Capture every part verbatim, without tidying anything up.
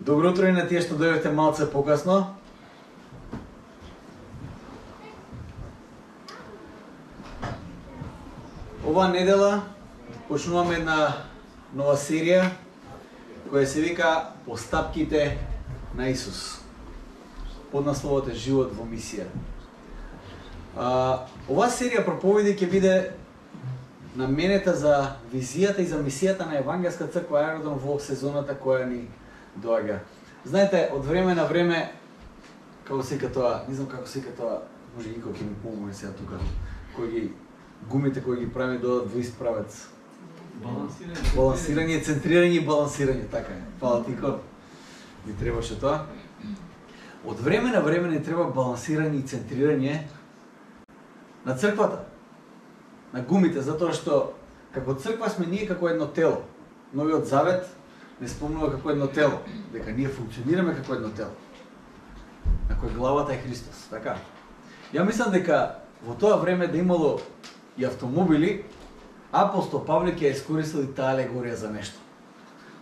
Добро утро и на тие што дојдете малце покасно. Оваа недела почнуваме една нова серија која се вика Постапките на Исус. Под насловот е Живот во мисија. А, оваа серија проповеди ќе биде наменета за визијата и за мисијата на Евангелска црква Аеродром во сезоната која ни доаѓа. Знаете, од време на време, како се вика тоа, не знам како се вика тоа, може и кој ќе ми помогне сега тука, кој ги гумите кои ги прави додат во ист правец. Балансирање. Балансирање, центрирање и балансирање, така е. Фала Тико. Ни требаше тоа. Од време на време не треба балансирање и центрирање на црквата, на гумите, затоа што како црква сме ние како едно тело. Новиот завет не спомнува како едно тело, дека ние функционираме како едно тело, на кој главата е Христос, така? Ја мислам дека во тоа време да имало и автомобили, апостол Павле ќе искористил и таа алегорија за нешто.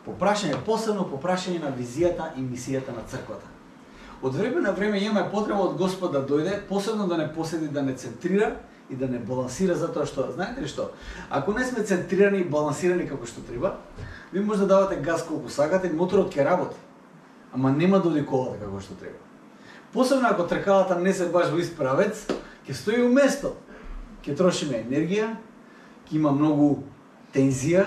По прашање, посебно по прашање на визијата и мисијата на црквата. Од време на време имаме потреба од Господ да дојде, посебно да не поседи, да не центрира и да не балансира, затоа што, знаете ли што, ако не сме центрирани и балансирани како што треба, ви може да давате газ колку сакате и моторот ќе работи, ама нема да оди колата како што треба. Посебно ако тркалата не се баш во ист правец, ќе стои уместо, ќе трошиме енергија, ќе има многу тензија,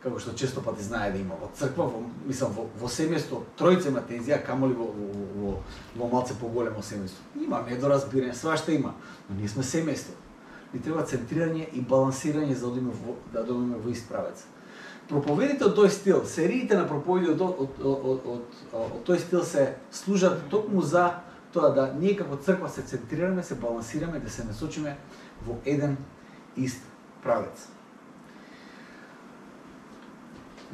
како што често пати знае да има во црква, во, мислам, во, во семејство, тројца има тензија, камоли во, во, во, во малце поголемо семејство. Има недоразбирање, свашта има, но ние сме семејство. Ни треба центрирање и балансирање за да, да одиме во ист правец. Проповедите од тој стил, сериите на проповеди од, од, од, од, од, од тој стил се служат токму за тоа да ние како црква се центрираме, се балансираме, да се насочиме во еден ист правец.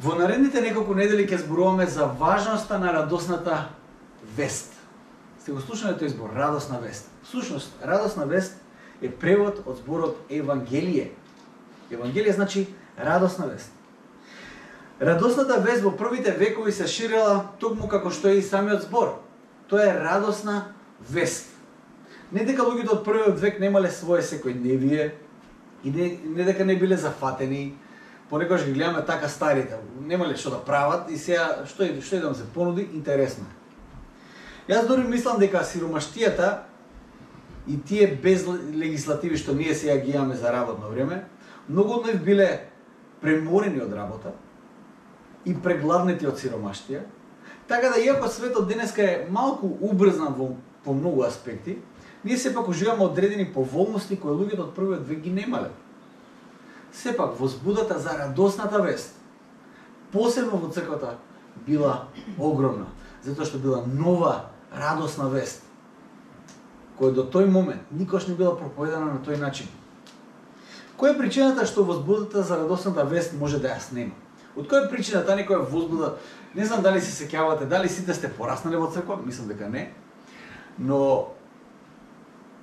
Во наредните неколку недели ќе зборуваме за важноста на радосната вест. Сте го слушнале тој збор, радосна вест. Всушност, радосна вест е превод од зборот Евангелие. Евангелие значи радосна вест. Радосната вест во првите векови се ширела токму како што е и самиот збор. Тоа е радосна вест. Не дека луѓето од првиот век немале свое секојдневие и не, не дека не биле зафатени, понекогаш ги гледаме така старите, немале што да прават и сега што е што е да им се понуди, интересно. Јас дори мислам дека сиромаштијата и тие без легислативи што ние сега ги имаме за работно време, многу од нив биле преморени од работа и прегладнети од сиромаштија, така да иако светот денеска е малку убрзан во по многу аспекти, ние сепак уживаме одредени поволности кои луѓето од првиот век ги немале. Сепак возбудата за радосната вест, посебно во црквата, била огромна, затоа што била нова радосна вест, која до тој момент никош не била проповедана на тој начин. Која е причината што возбудата за радосната вест може да ја снема? Од која причина таа некоја возбуда, не знам дали се сеќавате, дали сите сте пораснале во црква, мислам дека не, но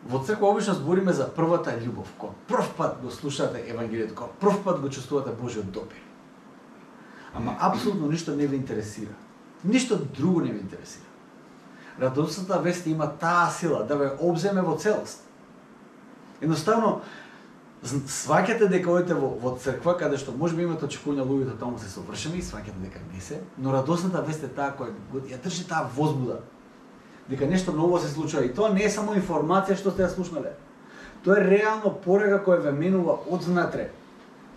во црква обично збориме за првата љубов, кога прв пат го слушате Евангелието, кога прв пат го чувствувате Божиот допир. Ама апсолутно ништо не ви интересира. Ништо друго не ви интересира. Радосната вест има таа сила да ве обземе во целост. Едноставно, сваќате дека одите во, во црква, каде што може би имате очекувања луѓето таму се совршени и сваќате дека не се, но радосната вест е таа која ја држи таа возбуда, дека нешто ново се случува и тоа не е само информација што сте ја слушнале. Тоа е реално порака која ве менува од внатре.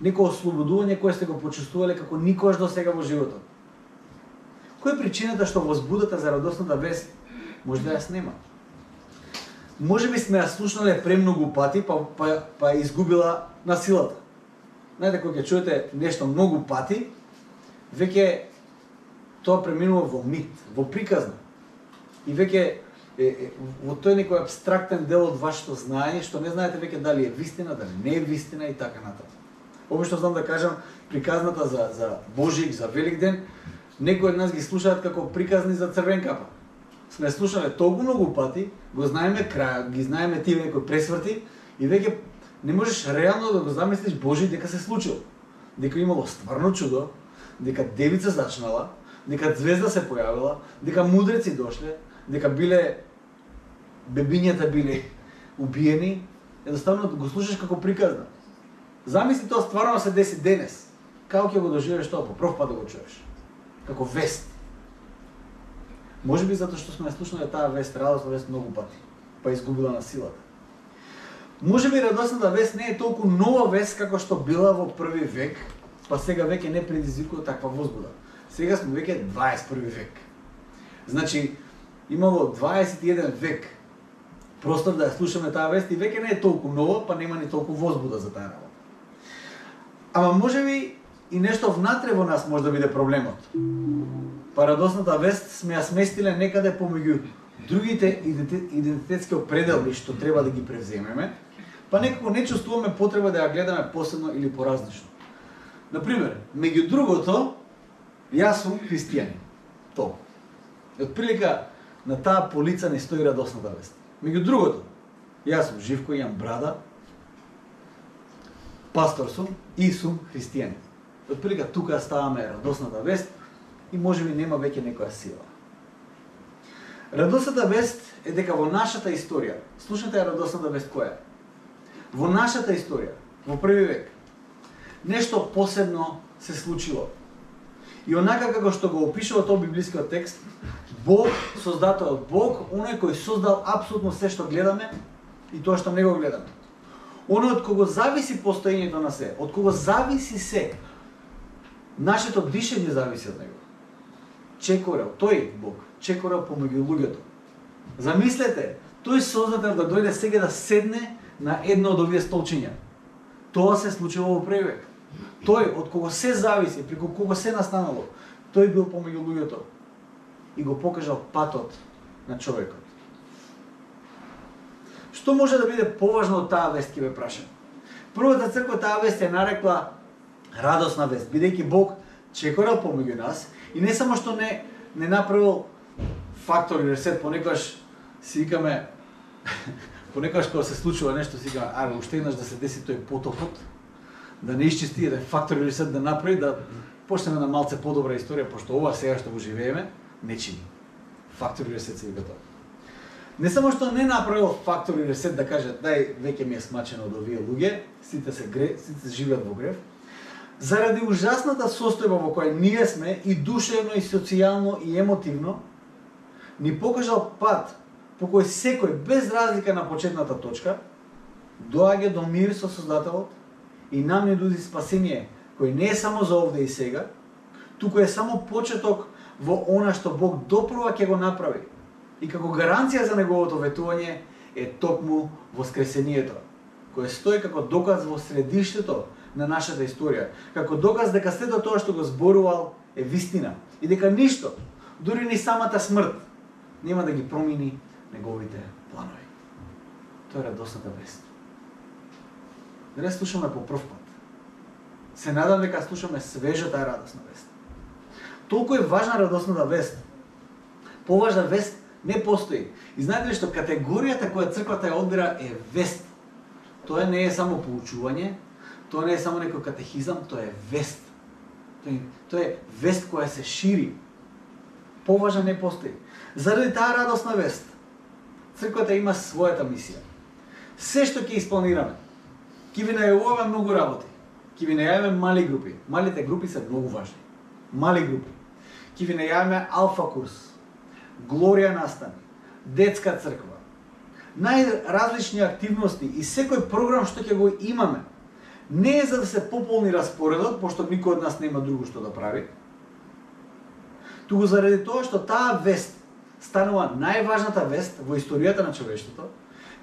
Некој ослободување кое сте го почувствувале како никогаш до сега во животот. Која е причината што возбудата за радосната вест може да ја снема? Може би сме ја слушнале премногу пати, па, па, па изгубила на силата. Знаете, кога ќе чуете нешто многу пати, веќе тоа преминува во мит, во приказна. И веќе е, е, во тој некој абстрактен дел од вашето знаење, што не знаете веќе дали е вистина, дали не е вистина и така натаму. Обично знам да кажам, приказната за, за Божик, за Великден, некои од нас ги слушаат како приказни за црвен капа. Сме слушале толку многу пати, го знаеме крајот, ги знаеме тие некои пресврти и веќе не можеш реално да го замислиш Божи дека се случило. Дека имало стварно чудо, дека девица зачнала, дека звезда се појавила, дека мудреци дошле, дека биле бебињата биле убиени, едноставно го слушаш како приказна. Замисли тоа стварно се деси денес. Како ќе го доживееш тоа по прв пат да го чуеш? Како вест. Може би затоа што сме слушнале таа вест, радосна вест многу пати, па изгубила на силата. Може би радосната вест не е толку нова вест како што била во први век, па сега веќе не предизвикува таква возбуда. Сега сме веќе дваесет и први век. Значи, имало дваесет и еден век простор да ја слушаме таа вест и веќе не е толку нова, па нема ни толку возбуда за таа работа. Ама може би и нешто внатре во нас може да биде проблемот. Па радосната вест сме ја сместиле некаде помеѓу другите идентитетски определби што треба да ги превземеме, па некако не чувствуваме потреба да ја гледаме посебно или поразлично. Например, меѓу другото, јас сум христијанин. Тоа. И отприлика на таа полица не стои радосната вест. Меѓу другото, јас сум Живко, имам брада, пастор сум и сум христијанин. Отприлика тука ставаме радосната вест и можеби нема веќе некоја сила. Радосната вест е дека во нашата историја, слушнете ја радосната вест која е? Во нашата историја, во први век, нешто посебно се случило. И онака како што го опишува тоа библискиот текст, Бог, создателот Бог, оној кој создал апсолутно се што гледаме и тоа што не го гледаме. Оној од кого зависи постоењето на се, од кого зависи се, нашето дишење зависи од него. Чекорел, тој Бог, чекорел помеѓу луѓето. Замислете, тој создател да дојде сега да седне на едно од овие столчиња. Тоа се случило во први век. Тој од кого се зависи, преку кого се настанало, тој бил помеѓу луѓето и го покажал патот на човекот. Што може да биде поважно од таа вест, ќе ве прашам? Првата црква таа вест ја нарекла радосна вест, бидејќи Бог чекорал помеѓу нас и не само што не не направил фактор или ресет, понекогаш си викаме понекогаш кога се случува нешто си викаме, аре уште еднаш да се деси тој потопот, да не исчисти еден фактор или ресет да направи, да почнеме на малце подобра историја, пошто ова сега што го живееме не чини. Фактор или ресет се вика тоа. Не само што не направил фактор или ресет да каже дај веќе ми е смачено од овие луѓе, сите се гре, сите се живеат во грев. Заради ужасната состојба во која ние сме и душевно, и социјално, и емотивно, ни покажал пат по кој секој, без разлика на почетната точка, доаѓа до мир со Создателот и нам ни нуди спасение, кој не е само за овде и сега, туку е само почеток во она што Бог допрва ќе го направи. И како гаранција за неговото ветување е токму воскресението, кој стои како доказ во средиштето на нашата историја, како доказ дека сето тоа што го зборувал е вистина и дека ништо, дури ни самата смрт, нема да ги промени неговите планови. Тоа е радосната вест. Да не слушаме по прв пат. Се надам дека слушаме свежа таа радосна вест. Толку е важна радосната вест. Поважна вест не постои. И знаете ли што категоријата која црквата ја одбира е вест. Тоа не е само поучување, тоа не е само некој катехизам, тоа е вест. Тоа е, тоа е вест која се шири. Поважна не постои. Заради таа радосна вест, црквата има својата мисија. Се што ќе испланираме, ќе ви најавуваме многу работи, ќе ви најавиме мали групи. Малите групи се многу важни. Мали групи. Ќе ви најавиме алфа курс, Глорија настани, детска црква, најразлични активности и секој програм што ќе го имаме, не е за да се пополни распоредот, пошто никој од нас нема друго што да прави, туку заради тоа што таа вест станува најважната вест во историјата на човештвото,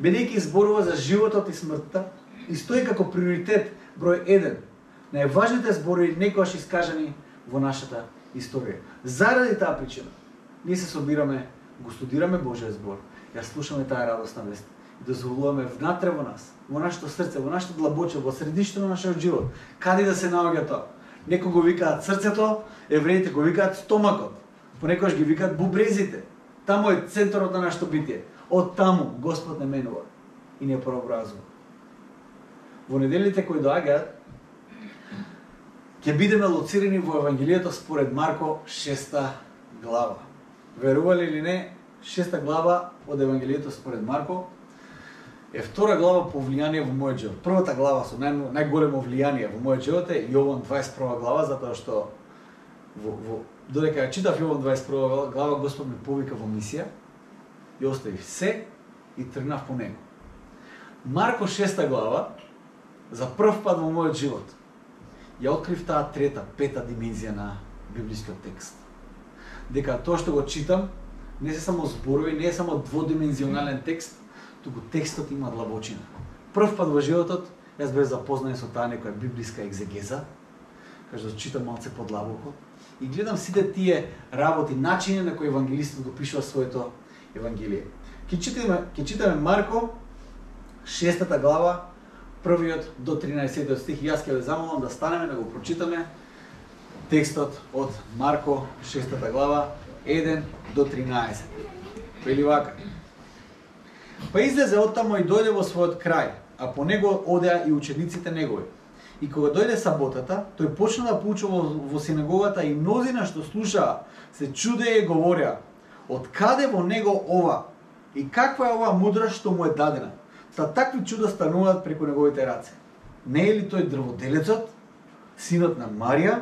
бидејќи зборува за животот и смртта и стои како приоритет број еден, најважните зборови некогаш искажани во нашата историја. Заради таа причина, ние се собираме, го студираме Божиот збор, ја слушаме таа радосна вест и дозволуваме внатре во нас, во нашето срце, во нашето длабоче, во средиштето на нашиот живот, каде да се наоѓа тоа. Некои го викаат срцето, евреите го викаат стомакот, понекогаш ги викаат бубрезите. Таму е центарот на нашето битие. Од таму Господ не менува и не прообразува. Во неделите кои доаѓаат, ќе бидеме лоцирани во Евангелието според Марко шеста глава. Верували или не, шеста глава од Евангелието според Марко е втора глава по влијание во мојот живот. Првата глава со нај, најголемо влијание во мојот живот е Јован дваесет и прва глава, затоа што во, во, додека ја читав Јован дваесет и прва глава, Господ ме повика во мисија и оставив се и тргнав по него. Марко шеста глава, за прв пат во мојот живот, ја открив таа трета, пета димензија на библискиот текст. Дека тоа што го читам не се само зборови, не е само дводимензионален текст, туку текстот има длабочина. Прв пат во животот јас бев запознаен со таа некоја библиска екзегеза, кажа да читам малце подлабоко и гледам сите тие работи, начини на кои евангелистот го пишува своето евангелие. Ќе читаме, ќе читаме Марко шестата глава, првиот до тринаесеттиот стих. Јас ќе ве замолам да станеме да го прочитаме текстот од Марко шестата глава еден до тринаесет. Вели вака: Па излезе оттаму и дојде во својот крај, а по него одеа и учениците негови. И кога дојде саботата, тој почна да поучува во синагогата и мнозина што слушаа се чудеа и говореа: од каде во него ова? И каква е оваа мудрост што му е дадена? Та такви чуда стануваат преку неговите раце. Не е ли тој дрводелецот, синот на Марија,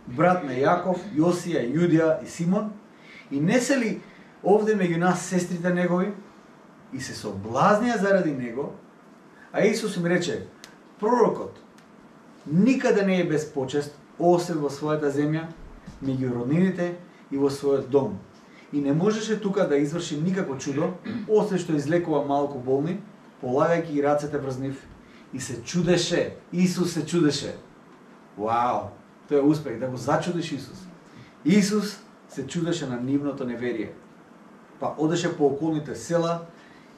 брат на Јаков, Јосија, Јудија и Симон? И не се ли овде меѓу нас сестрите негови? И се соблазнија заради него, а Исус им рече: пророкот никаде не е без почест, освен во својата земја, меѓу роднините и во својот дом. И не можеше тука да изврши никакво чудо, освен што излекува малку болни, полагајќи ги рацете врз нив. И се чудеше, Исус се чудеше. Вау, тоа е успех, да го зачудиш Исус. Исус се чудеше на нивното неверие. Па одеше по околните села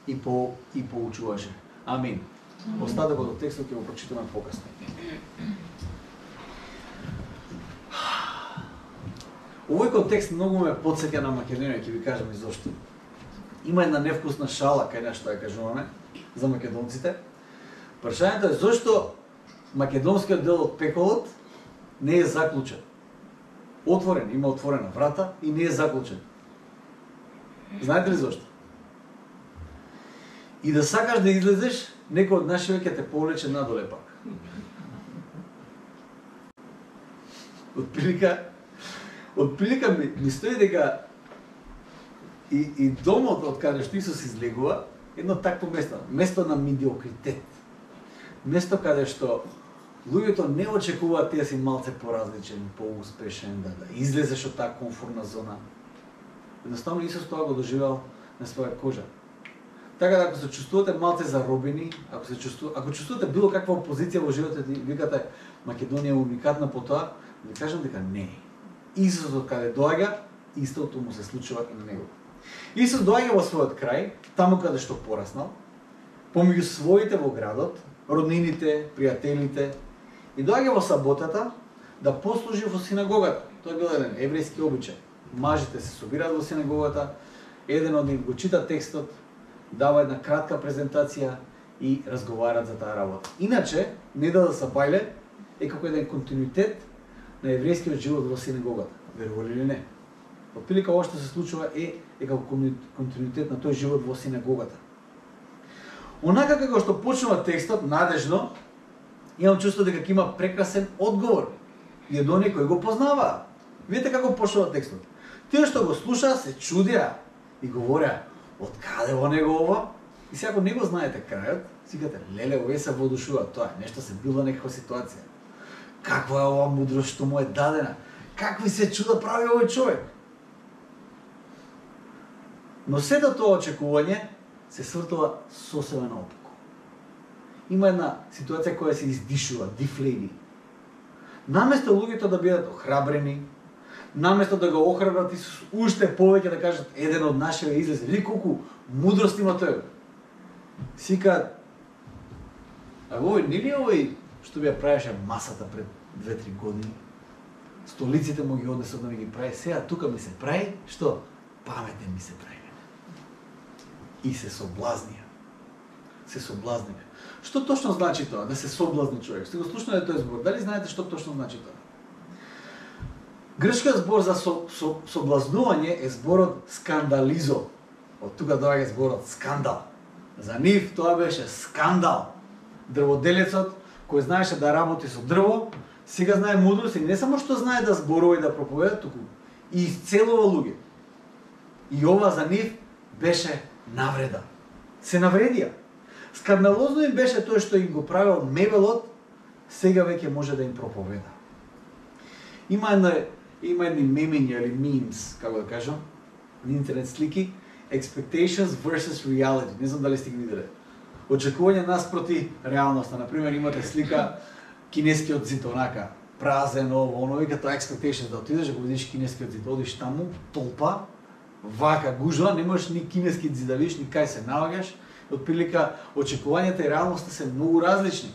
и по и поучуваше. Амин. Остатокот од текстот ќе го прочитаме покасно. Овој контекст многу ме потсеќа на Македонија, ќе ви кажам и зошто. Има една невкусна шала кај нас што ја кажуваме за македонците. Прашањето е зошто македонскиот дел од пеколот не е заклучен. Отворен, има отворена врата и не е заклучен. Знаете ли зошто? И да сакаш да излезеш, некој од нашите ќе те повлече надоле пак. Отприлика, отприлика ми, ми стои дека и, и домот од каде што Исус излегува, едно такво место, место на медиокритет. Место каде што луѓето не очекуваат ти да си малце поразличен, поуспешен, да, да излезеш од таа комфортна зона. Едноставно Исус тоа го доживеал на своја кожа. Така да ако се чувствувате малце заробени, ако се чувствувате, ако чувствувате било каква опозиција во животот и викате Македонија е уникатна по тоа, ви кажам дека не е. Исус од каде доаѓа, истото му се случува и на него. Исус доаѓа во својот крај, таму каде што пораснал, помеѓу своите во градот, роднините, пријателите, и доаѓа во саботата да послужи во синагогата. Тоа бил еден еврејски обичај. Мажите се собираат во синагогата, еден од нив го чита текстот, дава една кратка презентација и разговараат за таа работа. Иначе, недела са бајле е како еден континуитет на еврејскиот живот во синагогата. Верували или не? Отприлика ова што се случува е, е како континуитет на тој живот во синагогата. Онака како што почнува текстот, надежно, имам чувство дека има прекрасен одговор. И од оние кои го познаваа. Видите како почнува текстот. Тие што го слушаа се чудеа и говореа: од каде во него ова? И сега ако не го знаете крајот, си кажете: леле, овие се водушуваат, тоа е нешто се било некаква ситуација. Каква е ова мудрост што му е дадена? Какви се чуда прави овој човек? Но сето тоа очекување се свртува сосема наопаку. Има една ситуација која се издишува, дифлејни. Наместо луѓето да бидат охрабрени, наместо да го охрабрат Исус уште повеќе да кажат: еден од нашите излезе, види колку мудрост има тој. Сика, а овој нели овој што би ја правеше масата пред две-три години? Столиците му ги однесо да ми ги прави, сега тука ми се прави, што? Паметен ми се прави. И се соблазнија. Се соблазнија. Што точно значи тоа, да се соблазни човек? Сте го слушнале тој збор? Дали знаете што точно значи тоа? Грчкиот збор за со, со, соблазнување е зборот скандализо. Од тука доаѓа зборот скандал. За нив тоа беше скандал. Дрводелецот кој знаеше да работи со дрво, сега знае мудрост и не само што знае да зборува и да проповеда, туку и исцелува луѓе. И ова за нив беше навреда. Се навредија. Скандалозно им беше тоа што им го правил мебелот, сега веќе може да им проповеда. Има една има едни мемиња или memes, како да кажам, на интернет слики, expectations versus reality. Не знам дали сте ги виделе. Очекување наспроти реалноста. Например, имате слика кинескиот зид, онака празен, ово, оно, вика тоа expectations, да отидеш да го видиш кинескиот зид, одиш таму, толпа, вака гужва, не можеш ни кинески зид да видиш, ни кај се наоѓаш. Отприлика очекувањата и реалноста се многу различни.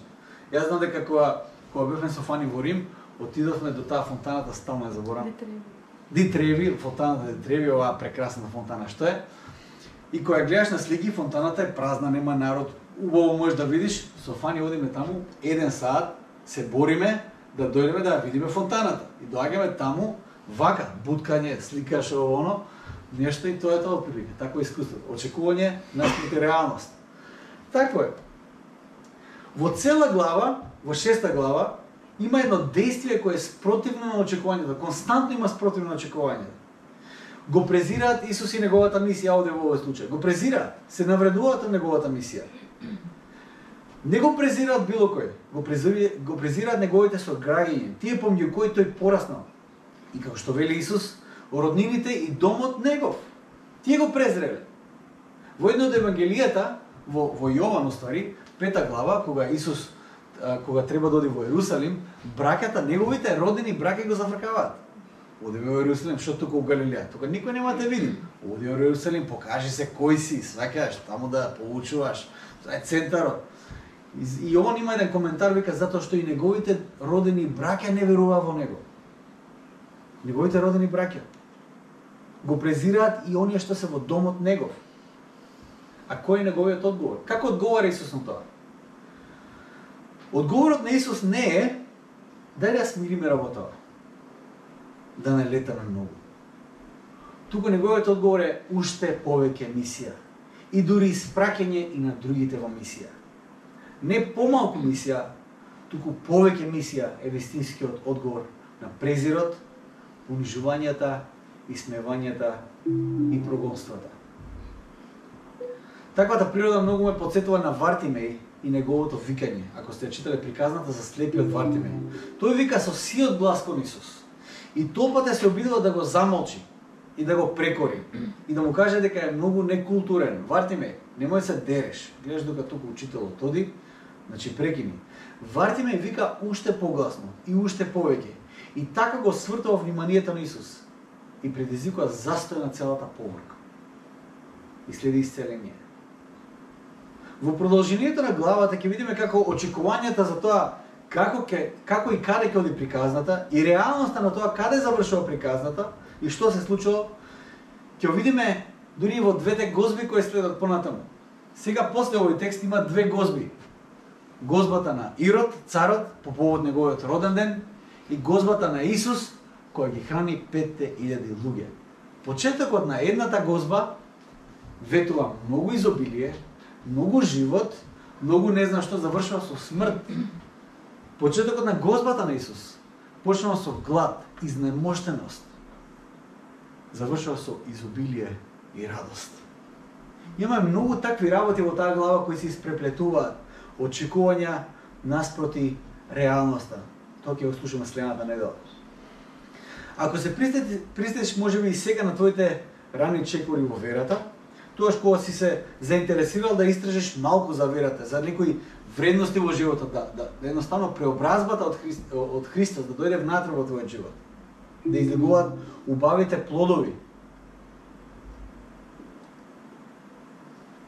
Јас знам дека кога кога бевме со Фани во Рим, отидовме до таа фонтаната, стално ја заборам. Ди Треви, фонтаната Ди Треви, оваа прекрасна фонтана што е. И кога гледаш на слики, фонтаната е празна, нема народ. Убаво можеш да видиш, со Фани одиме таму, еден саат, се бориме да дојдеме да ја видиме фонтаната. И доаѓаме таму, вака, буткање, сликаш ово оно, нешто и тоа е тоа отприлика, такво искуство. Очекување наспроти реалност. Такво е. Во цела глава, во шеста глава, има едно действие кое е спротивно на очекувањето, константно има спротивно на очекувањето. Го презираат Исус и неговата мисија овде во овој случај. Го презираат, се навредуваат од неговата мисија. Не го презираат било кој, го презираат, го презираат неговите сограѓања, тие помеѓу кои тој пораснал. И како што вели Исус, роднините и домот негов. Тие го презреле. Во едно од евангелијата, во, во Јован, уствари, пета глава, кога Исус кога треба да оди во Ерусалим, браќата, неговите родени браќа го зафркаваат. Оди во Ерусалим, што тука во Галилеја? Тука никој нема да те види. Оди во Ерусалим, покажи се кој си, сваќаш, таму да поучуваш. Тоа е центарот. И он има еден коментар, вика, затоа што и неговите родени браќа не веруваа во него. Неговите родени браќа го презираат и оние што се во домот негов. А кој е неговиот одговор? Како одговара Исус на тоа? Одговорот на Исус не е дај да смириме работава, да не летаме многу. Туку неговиот одговор е уште повеќе мисија и дури испраќање и на другите во мисија. Не помалку мисија, туку повеќе мисија е вистинскиот одговор на презирот, унижувањата, исмевањата и прогонствата. Таквата природа многу ме потсетува на Вартимеј и неговото викање. Ако сте читале приказната за слепиот Вартимеј, тој вика со сиот глас кон Исус. И толпата се обидува да го замолчи и да го прекори и да му каже дека е многу некултурен. Вартимеј, немој се дереш. Гледаш дека тука учителот оди, значи прекини. Вартимеј вика уште погласно и уште повеќе. И така го свртува вниманието на Исус и предизвикува застој на целата поврка. И следи исцеление. Во продолжението на главата ќе видиме како очекувањата за тоа како ке, како и каде ќе оди приказната и реалноста на тоа каде завршува приказната и што се случило, ќе видиме дури во двете гозби кои следат понатаму. Сега после овој текст има две гозби. Гозбата на Ирод, царот, по повод неговиот роден ден, и гозбата на Исус, која ги храни петте илјади луѓе. Почетокот на едната гозба ветува многу изобилие, многу живот, многу не знам што, завршува со смрт. Почетокот на гозбата на Исус почнува со глад, изнемоштеност. Завршува со изобилие и радост. Имаме многу такви работи во таа глава кои се испреплетуваат, очекувања наспроти реалноста. Тоа ќе го слушаме следната недела. Ако се пристетиш можеби и сега на твоите рани чекори во верата, тогаш кога си се заинтересирал да истражиш малку за верата, за некои вредности во животот, да, да, да едноставно преобразбата од, Христ, од Христос да дојде внатре во твојот живот, да излегуваат убавите плодови.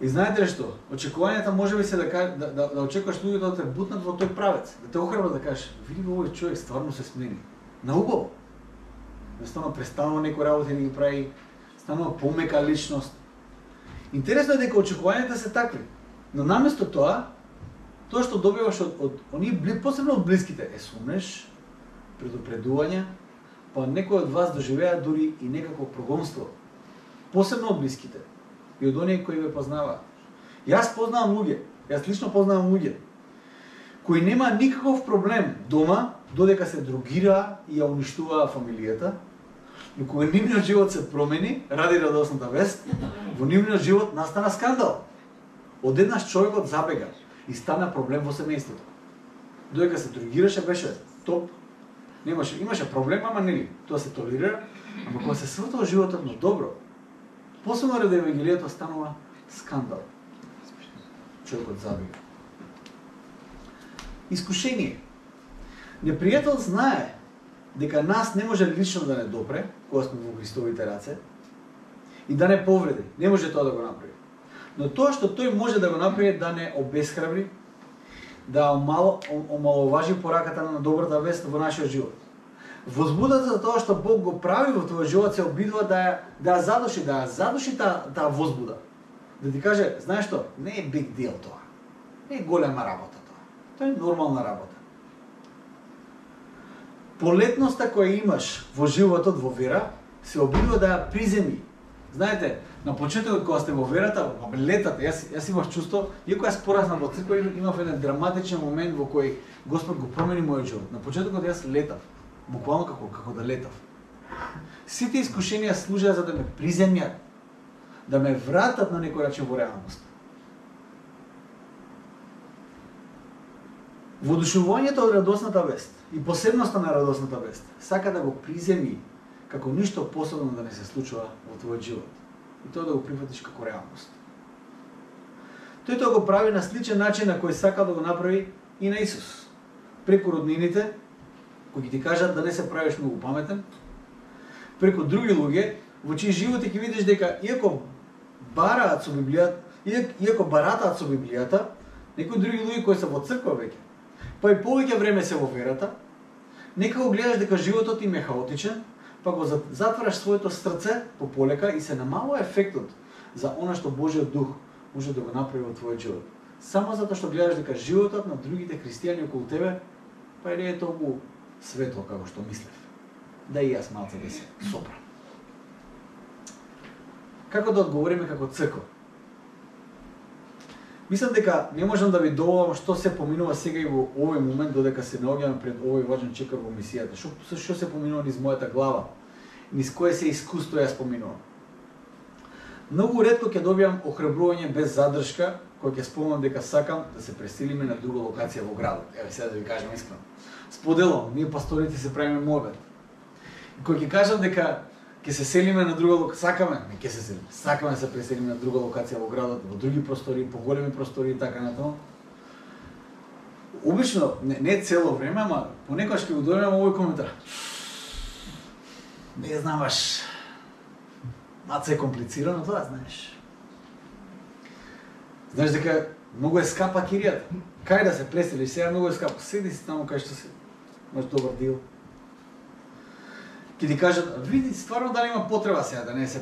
И знаете ли што? Очекувањата можеби се да, да, да, да очекуваш луѓето да те бутнат во тој правец, да те охрабрат да кажеш, види овој човек стварно се смени. На убаво. Едноставно престанува некои работи да ги прави, станува помека личност. Интересно е дека очекувањата се такви, но наместо тоа, тоа што добиваш од, од оние, посебно од блиските, е сумнеш, предупредување, па некој од вас доживеа дури и некакво прогонство, посебно од блиските и од оние кои ве познаваат. Јас познавам луѓе, јас лично познавам луѓе кои нема никаков проблем дома додека се другира и ја уништуваа фамилијата, но кога нивниот живот се промени ради радосната вест, во нивниот живот настана скандал. Одеднаш човекот забега и стана проблем во семејството. Додека се другираше беше топ, немаше, имаше проблем, ама нели, тоа се толерира, ама кога се свртува животот на добро, посебно ради евангелието станува скандал. Човекот забега. Искушение. Непријател знае дека нас не може лично да не допре, кога сме во Христовите раце, и да не повреди. Не може тоа да го направи. Но тоа што тој може да го направи да не обесхрабри, да омало, омаловажи пораката на добрата вест во нашиот живот. Возбудата за тоа што Бог го прави во твојот живот се обидува да ја, да ја задуши, да ја задуши таа та возбуда. Да ти каже, знаеш што, не е big deal тоа. Не е голема работа тоа. Тоа е нормална работа. Полетноста која имаш во животот во вера се обидува да ја приземи. Знаете, на почетокот кога сте во верата, во летата, јас јас имав чувство, иако јас пораснав во црква, имав еден драматичен момент во кој Господ го промени мојот живот. На почетокот јас летав, буквално како како да летав. Сите искушенија служеа за да ме приземјат, да ме вратат на некој начин во реалност. Воодушевувањето од радосната вест и посебноста на радосната вест сака да го приземи како ништо посебно да не се случува во твојот живот и тоа да го прифатиш како реалност. Тој тоа го прави на сличен начин на кој сака да го направи и на Исус. Преку роднините, кои ти кажат да не се правиш многу паметен, преку други луѓе, во чии животи ќе видиш дека иако бараат со Библијата, иако баратаат со Библијата, некои други луѓе кои се во црква веќе, па и повеќе време се во верата, некако гледаш дека животот им е хаотичен, па го затвараш своето срце пополека и се намалува ефектот за она што Божиот дух може да го направи во твојот живот. Само затоа што гледаш дека животот на другите христијани околу тебе па не е толку светло како што мислев. Да и јас малце да се сопрам. Како да одговориме како црква? Мислам дека не можам да ви доволам што се поминува сега и во овој момент додека се наоѓаме пред овој важен чекор во мисијата. Што што се поминува низ мојата глава, низ кое се искуство јас поминувам. Многу ретко ќе добијам охрабрување без задршка, кога ќе спомнам дека сакам да се преселиме на друга локација во градот. Еве сега да ви кажам искрено. Споделам, ние пасторите се правиме мобет. И кога ќе кажам дека ќе се селиме на друга локација, сакаме, не ќе се селиме, сакаме да се преселиме на друга локација во градот, во други простори, поголеми простори и така натаму. Обично, не, не цело време, ама понекогаш ќе го дојдем овој коментар. Не знамаш, маце е комплицирано тоа, знаеш. Знаеш дека многу е скапа киријата. Кај да се преселиш, сега многу е скапа. Седи си таму кај што си, имаш добар дил. Ке ти кажат, види стварно дали има потреба сега да не се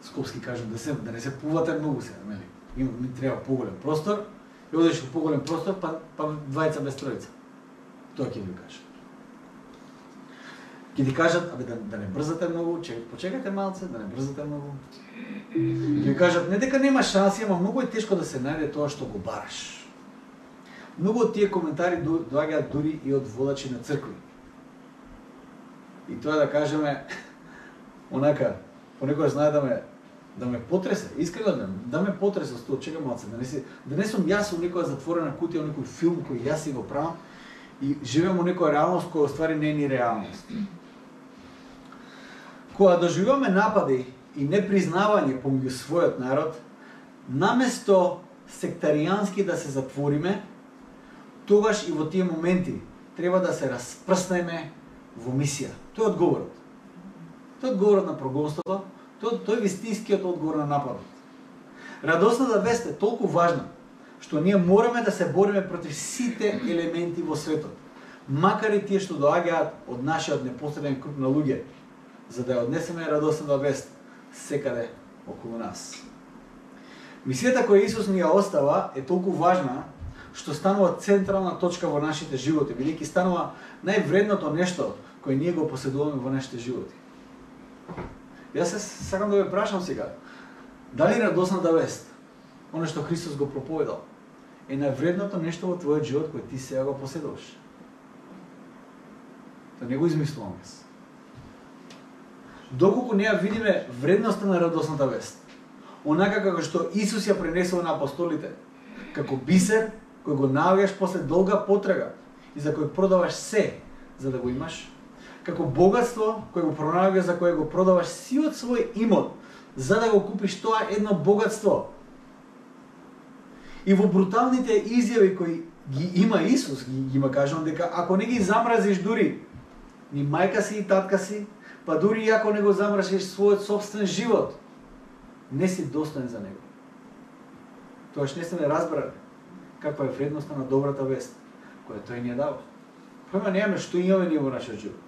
скопски кажам да се да не се пувате многу сега, нели? Има ми треба поголем простор, и одеш во поголем простор, па па двајца без тројца. Тоа ќе ви кажа. Ке ти кажат, абе да, да не брзате многу, че почекате малце, да не брзате многу. Ке ви кажат, не дека нема шанси, ама многу е тешко да се најде тоа што го бараш. Многу од тие коментари доаѓаат дури и од водачи на цркви. И тоа да кажеме, онака, понекогаш знае да ме да ме потресе, искрено да, да ме потресе со тоа, чекам малце, да не си, да не сум јас во некоја затворена кутија, во некој филм кој јас си го правам и живеам во некоја реалност која оствари не е ни реалност. Кога доживуваме напади и непризнавање помеѓу својот народ, наместо сектаријански да се затвориме, тогаш и во тие моменти треба да се распрснеме во мисија. Тој е одговорот. Тој е одговорот на прогонството, тој, тој е вистинскиот одговор на нападот. Радосната вест е толку важна, што ние мораме да се бориме против сите елементи во светот, макар и тие што доаѓаат од нашиот непосреден круг на луѓе, за да ја однесеме радосната вест секаде околу нас. Мисијата која Исус ни ја остава е толку важна, што станува централна точка во нашите животи, бидејќи станува највредното нешто кој ние го поседуваме во нашите животи. Јас се сакам да ве прашам сега, дали радосната вест, оно што Христос го проповедал, е највредното нешто во твојот живот кој ти сега го поседуваш? Да не го измислувам јас. Доколку не ја видиме вредноста на радосната вест, онака како што Исус ја пренесува на апостолите, како бисер кој го наоѓаш после долга потрага и за кој продаваш се за да го имаш, како богатство кој го пронаоѓаш за кое го продаваш сиот свој имот за да го купиш тоа едно богатство. И во бруталните изјави кои ги има Исус, ги, ги има кажувам дека ако не ги замразиш дури ни мајка си и татка си, па дури и ако не го замразиш својот собствен живот, не си достоен за него. Тоаш не сме разбрали каква е вредноста на добрата вест која тој ни ја дава. Појма немаме што имаме ние во нашиот живот.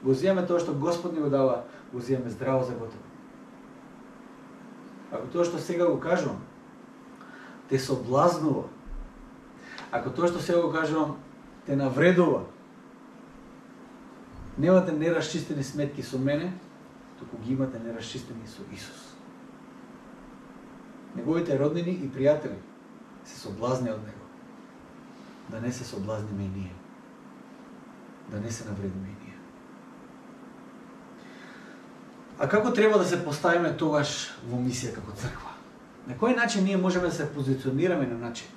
Го зијаме тоа што Господ ни го дава, го зијаме здраво за готово. Ако тоа што сега го кажувам те соблазнува, ако тоа што сега го кажувам те навредува, немате нерасчистени сметки со мене, туку ги имате нерасчистени со Исус. Неговите роднини и пријатели се соблазни од него. Да не се соблазниме и ние. Да не се навредиме и ние. А како треба да се поставиме тогаш во мисија како црква? На кој начин ние можеме да се позиционираме на начин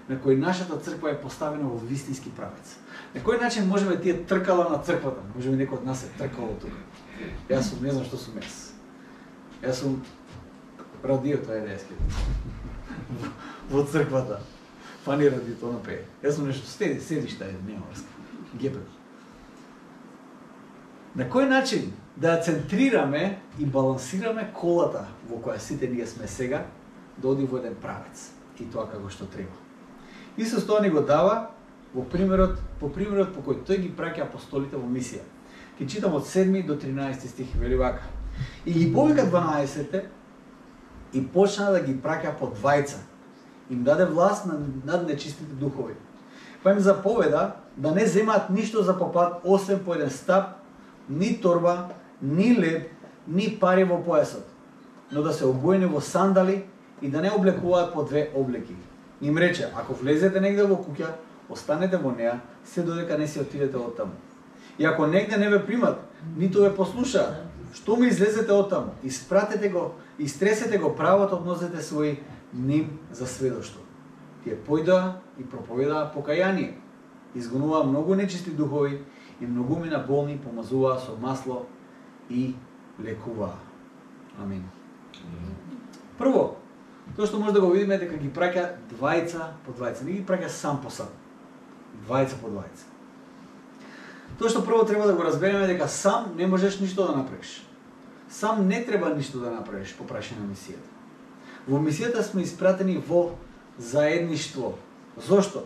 на кој нашата црква е поставена во вистински правец? На кој начин можеме тие тркала на црквата? Можеме некој од нас е тркало тука. Јас сум, не знам што сум јас. Јас сум радио, тоа е да јас во црквата. Фани радио, тоа напее. Јас сум нешто седи, седишта е, нема врска. Гепе. На кој начин да центрираме и балансираме колата во која сите ние сме сега, да оди во еден правец и тоа како што треба. Исус тоа ни го дава во примерот, по примерот по кој тој ги праќа апостолите во мисија. Ке читам од седми до тринаесети стих, вели вака. И ги повика дванаесетте и почна да ги праќа по двајца. Им даде власт над нечистите духови. Па им заповеда да не земаат ништо за попат, освен по еден стап, ни торба, ни леб, ни пари во појасот, но да се обуени во сандали и да не облекуваат по две облеки. Им рече, ако влезете негде во куќа, останете во неа, се додека не си отидете од таму. И ако негде не ве примат, ниту ве послушаат, што ми излезете од таму, испратете го, истресете го правот, односете своји ним за сведоштво. Тие појдоа и проповедаа покаяние, изгонуваа многу нечисти духови и многумина болни помазуваа со масло и лекуваа. Амин. Прво, тоа што може да го видиме дека ги праќа двајца по двајца, не ги праќа сам по сам. Двајца по двајца. Тоа што прво треба да го разбереме дека сам не можеш ништо да направиш. Сам не треба ништо да направиш по прашање на мисијата. Во мисијата сме испратени во заедништво. Зошто?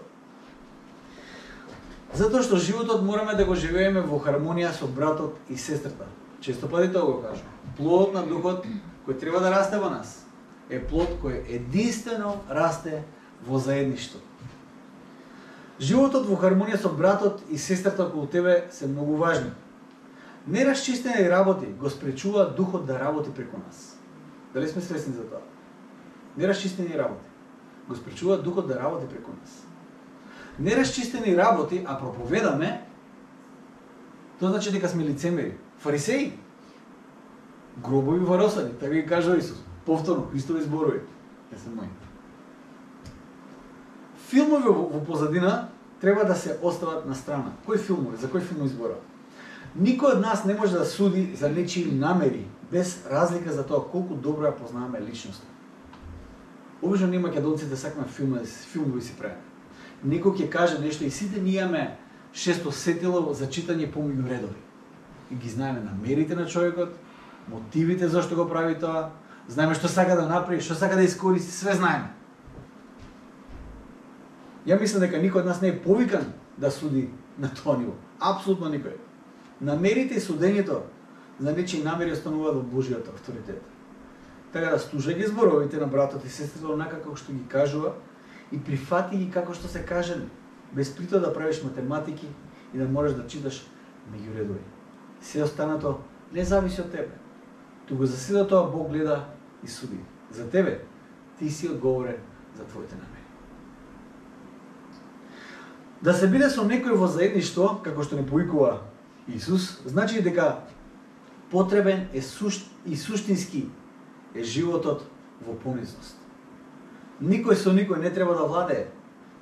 Затоа што животот мораме да го живееме во хармонија со братот и сестрата. Често пати тоа го кажам. Плодот на духот кој треба да расте во нас е плод кој единствено расте во заедништво. Животот во хармонија со братот и сестрата околу тебе се многу важни. Нерасчистени работи го спречуваат духот да работи преку нас. Дали сме свесни за тоа? Нерасчистени работи го спречуваат духот да работи преку нас. Нерасчистени работи, а проповедаме, тоа значи дека сме лицемери. Фарисеи, гробови варосани, така ги кажа Исус. Повторно, Христови зборови. Не се мои. Филмови во, во позадина треба да се остават на страна. Кои филмови? За кој филм избора? Никој од нас не може да суди за нечии намери, без разлика за тоа колку добро ја познаваме личноста. Обично ние македонците сакаме филмови, филмови си правиме. Некој ќе каже нешто и сите ние имаме шесто сетило за читање помеѓу редови. И ги знаеме намерите на човекот, мотивите зашто го прави тоа, знаеме што сака да направи, што сака да искористи, све знаеме. Ја мислам дека никој од нас не е повикан да суди на тоа ниво. Апсолутно никој. Намерите и судењето за нечии намери остануваат во Божиот авторитет. Така да слушај зборовите на братот и сестрата онака како што ги кажува и прифати ги како што се кажани, без притоа да правиш математики и да можеш да читаш меѓу редови. Се останато не зависи од тебе. Туку за сите тоа Бог гледа и суди. За тебе, ти си одговорен за твоите намери. Да се биде со некој во заедништво, како што не повикува Исус, значи дека потребен е сушт, и суштински е животот во понизност. Никој со никој не треба да владее,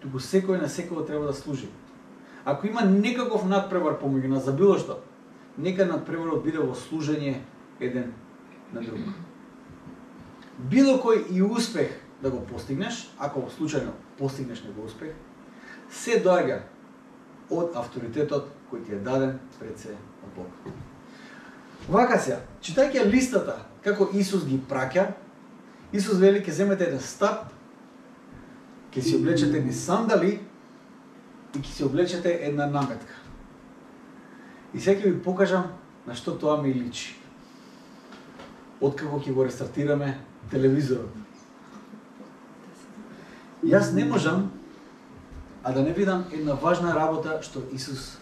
туку секој на секој треба да служи. Ако има некаков надпревар помеѓу нас за било што, нека надпреварот биде во служење еден на друг. Било кој и успех да го постигнеш, ако случајно постигнеш него успех, се доаѓа од авторитетот кој ти е даден пред се од Бог. Вака се, читајќи листата како Исус ги праќа, Исус вели ќе земете еден стап, ќе си облечете едни сандали и ќе си облечете една наметка. И сега ќе ви покажам на што тоа ми личи. Откако ќе го рестартираме телевизорот. Јас не можам а да не видам една важна работа што Исус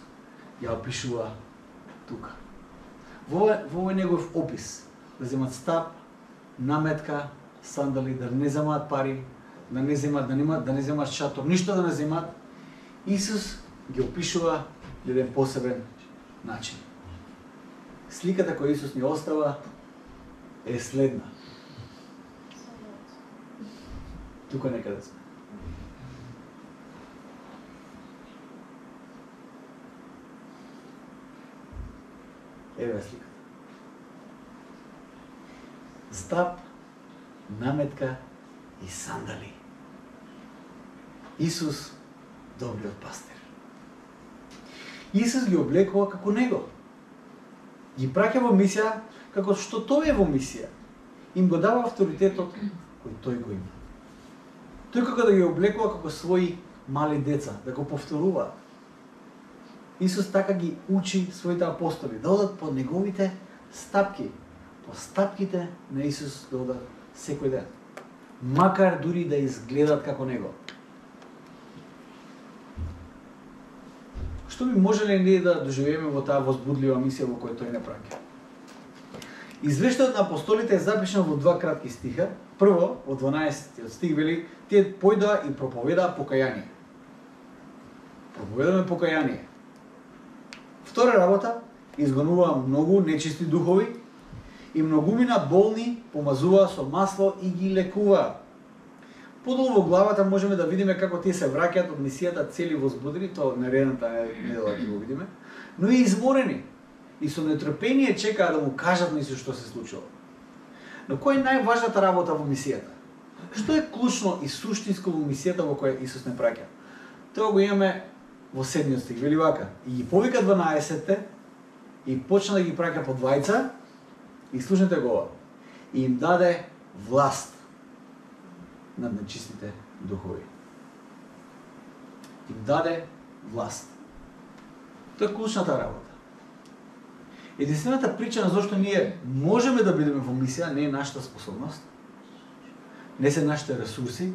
ја опишува тука. Во овој негов опис, да земат стап, наметка, сандали, да не земаат пари, да не земаат, да немаат, да не земаат шатор, ништо да не земаат, Исус ги опишува еден посебен начин. Сликата која Исус ни остава е следна. Тука некаде сме. Еве сликата. Стап, наметка и сандали. Исус, добриот пастир. Исус ги облекува како него. Ги праќа во мисија како што тој е во мисија. Им го дава авторитетот кој тој го има. Тој како да ги облекува како своји мали деца, да го повторуваат. Исус така ги учи своите апостоли да одат по неговите стапки, по стапките на Исус да одат секој ден. Макар дури да изгледат како него. Што би можеле ние да доживееме во таа возбудлива мисија во која тој не праќа? Извештајот на апостолите е запишан во два кратки стиха. Прво, во дванаесеттиот стих вели, тие појдоа и проповедаа покаяние. Проповедаме покаяние. Втора работа, изгонуваа многу нечисти духови и многумина болни помазуваа со масло и ги лекуваа. Подолу во главата можеме да видиме како тие се враќаат од мисијата цели возбудени, тоа наредната недела ќе го видиме, но и изморени и со нетрпение чекаа да му кажат на Исус што се случило. Но која е најважната работа во мисијата? Што е клучно и суштинско во мисијата во која Исус не праќа? Тоа го имаме во седмиот стих, вели вака: и ги повика дванаесетте и почна да ги праќа по двајца, и слушнете го ова, и им даде власт над нечистите духови. Им даде власт. Тоа е клучната работа. Единствената причина зашто ние можеме да бидеме во мисија не е нашата способност, не се нашите ресурси,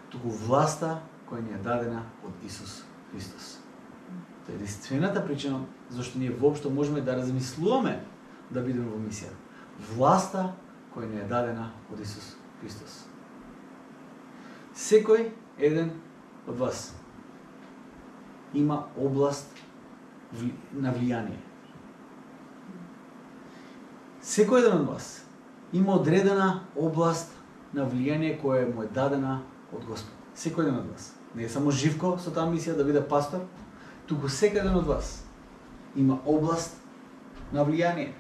туку власта која ни е дадена од Исус Христос. Тоа е единствената причина зашто ние воопшто можеме да размислуваме да бидеме во мисија. Власта која ни е дадена од Исус Христос. Секој еден од вас има област на влијание. Секој еден од вас има одредена област на влијание која му е дадена од Господ. Секој еден од вас. Не е само Живко со таа мисија да биде пастор, туку секој еден од вас има област на влијание.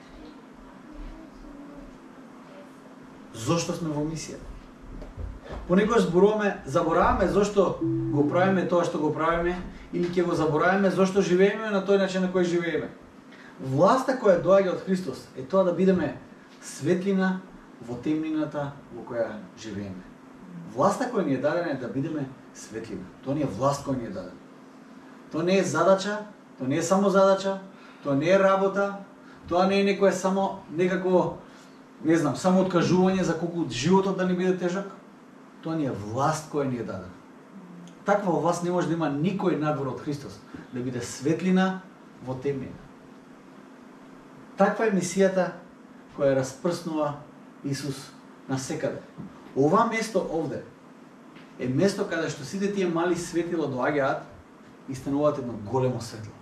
Зошто сме во мисија? Понекогаш зборуваме, забораваме зошто го правиме тоа што го правиме, или ќе го забораваме зошто живееме на тој начин на кој живееме. Власта која доаѓа од Христос е тоа да бидеме светлина во темнината во која живееме. Власта која ни е дадена е да бидеме светлина. Тоа не е власт која ни е дадена. Тоа не е задача, тоа не е само задача, тоа не е работа, тоа не е некое само некако, не знам, само откажување за колку животот да ни биде тежок. Тоа не е власт која ни е дадена. Таква во вас не може да има никој надвор од Христос, да биде светлина во темнина. Таква е мисијата која распрснува Исус насекаде. Ова место овде е место каде што сите тие мали светила доаѓаат и стануваат едно големо светло.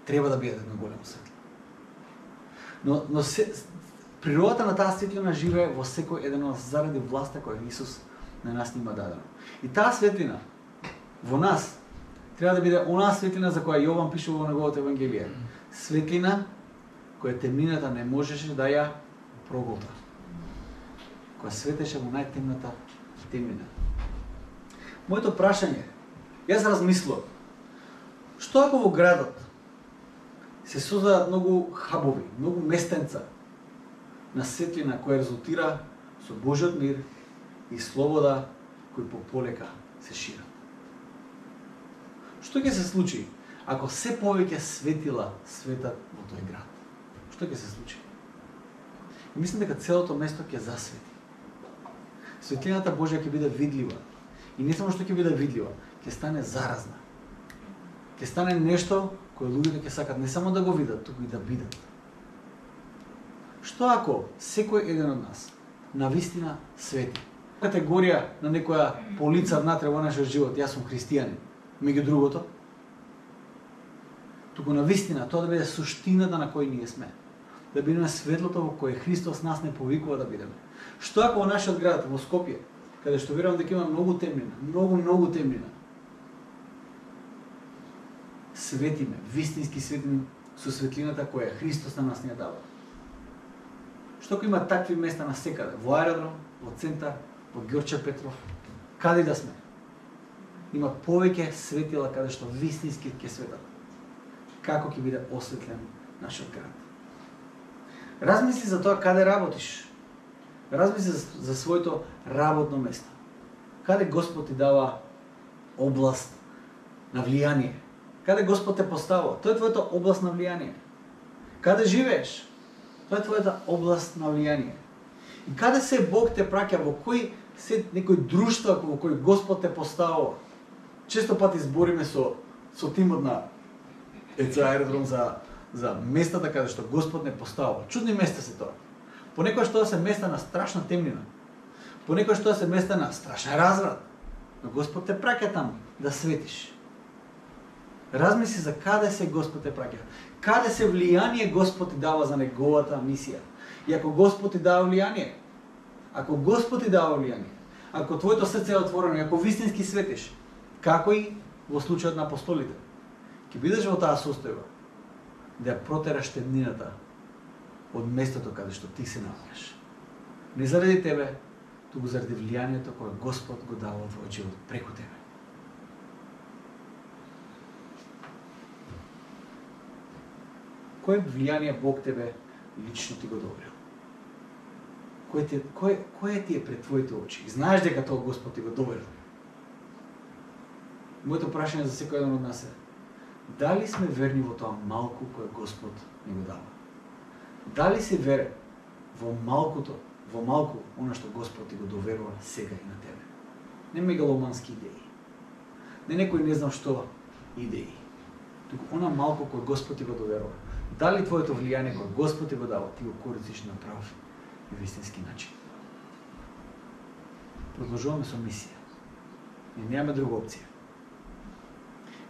Треба да бидат едно големо светло. Но, но се, природата на таа светлина живее во секој еден од нас заради власта која Исус на нас нима дадена. И таа светлина во нас треба да биде онаа светлина за која Јован пишува во неговото Евангелие. Светлина која темнината не можеше да ја проголта. Која светеше во најтемната темнина. Моето прашање, јас размислувам, што ако во градот се создадат многу хабови, многу местенца на светлина која резултира со Божјиот мир и слобода кои пополека се шират. Што ќе се случи ако се повеќе светила светат во тој град? Што ќе се случи? И мислам дека целото место ќе засвети. Светлината Божја ќе биде видлива. И не само што ќе биде видлива, ќе стане заразна. Ќе стане нешто кое луѓето ќе сакат не само да го видат, туку и да бидат. Што ако секој еден од нас навистина свети? Категорија на некоја полица внатре во нашиот живот, јас сум христијанин, меѓу другото, туку навистина тоа да биде суштината на кој ние сме. Да бидеме светлото во кое Христос нас не повикува да бидеме. Што ако во нашиот град, во Скопје, каде што верувам дека има многу темнина, многу, многу темнина, светиме, вистински светиме со светлината која Христос на нас ни ја дава. Што ако има такви места насекаде, во аеродром, во центар, во Ѓорче Петров, каде да сме? Има повеќе светила каде што вистински ќе светат. Како ќе биде осветлен нашиот град? Размисли за тоа каде работиш. Размисли за, за своето работно место. Каде Господ ти дава област на влијание? Каде Господ те поставува? Тоа е твојата област на влијание. Каде живееш? Тоа е твојата област на влијание. И каде се Бог те праќа, во кој се некој друштво во кој Господ те поставува? Често пати збориме со со тимот на ЕЦ Аеродром за за местата каде што Господ не поставува. Чудни места се тоа. Понекогаш тоа се места на страшна темнина. Понекогаш тоа се места на страшен разврат. Но Господ те праќа таму да светиш. Размисли за каде се Господ те праќа. Каде се влијание Господ ти дава за неговата мисија. И ако Господ ти дава влијание, ако Господ ти дава влијание, ако твоето срце е отворено, ако вистински светиш, како и во случајот на апостолите, ќе бидеш во таа состојба да ја протераш темнината од местото каде што ти се наоѓаш. Не заради тебе, туку заради влијанието кое Господ го дава во твојот живот преку тебе. Кој влијание Бог тебе лично ти го доверил? Кој ти кој кој ти е пред твоите очи? И знаеш дека тоа Господ ти го доверил. Моето прашање за секој еден од нас е: дали сме верни во тоа малку кое Господ ни го дава? Дали си верен во малкото, во малку она што Господ ти го доверува сега и на тебе? Не мегаломански идеи. Не некој не знам што идеи. Туку она малку кое Господ ти го доверува. Дали твоето влијание кое Господ ти го дава, ти го користиш на прав и вистински начин? Продолжуваме со мисија. Ние немаме друга опција.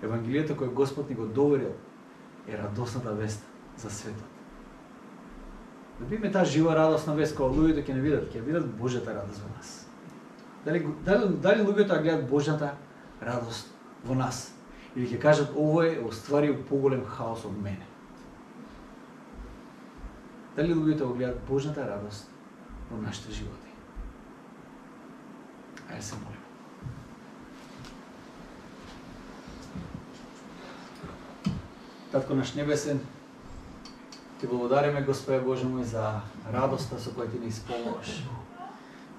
Евангелието кое Господ ни го доверил е радосната вест за светот. Да биме таа жива радосна вест кога луѓето ќе не видат, ќе видат Божјата радост во нас. Дали дали дали луѓето ја гледат Божјата радост во нас или ќе кажат ово е остварил поголем хаос од мене? Дали луѓето го гледат Божјата радост во нашите животи? Ајде се молиме. Татко наш небесен, ти благодариме, Господе Боже мој, за радоста со која ти не исполнуваш.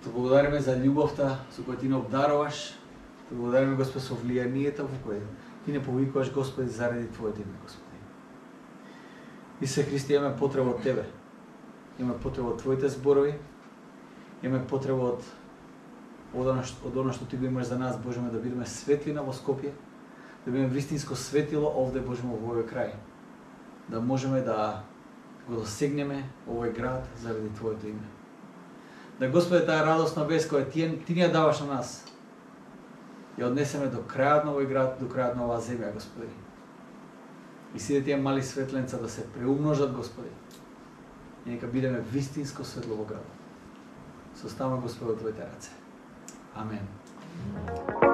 Ти благодариме за љубовта со која ти не обдаруваш. Ти благодариме, Господе, со влијанието во кое ти не повикуваш, Господи, заради Твоето име, Господи. Исусе Христе, имаме потреба од Тебе. Имаме потреба од Твоите зборови. Имаме потреба од од оно што, од оно што Ти го имаш за нас, Боже, да бидеме светлина во Скопје, да бидеме вистинско светило овде, Боже, во овој крај. Да можеме да го досегнеме овој град заради Твоето име. Да, Господе, таа радосна вест која Ти, ти ни ја даваш на нас, ја однесеме до крајот на овој град, до крајот на оваа земја, Господи. И сите тие мали светленца да се преумножат, Господи. И нека бидеме вистинско светло во градот. Се оставаме, Господи, во Твоите раце. Амен.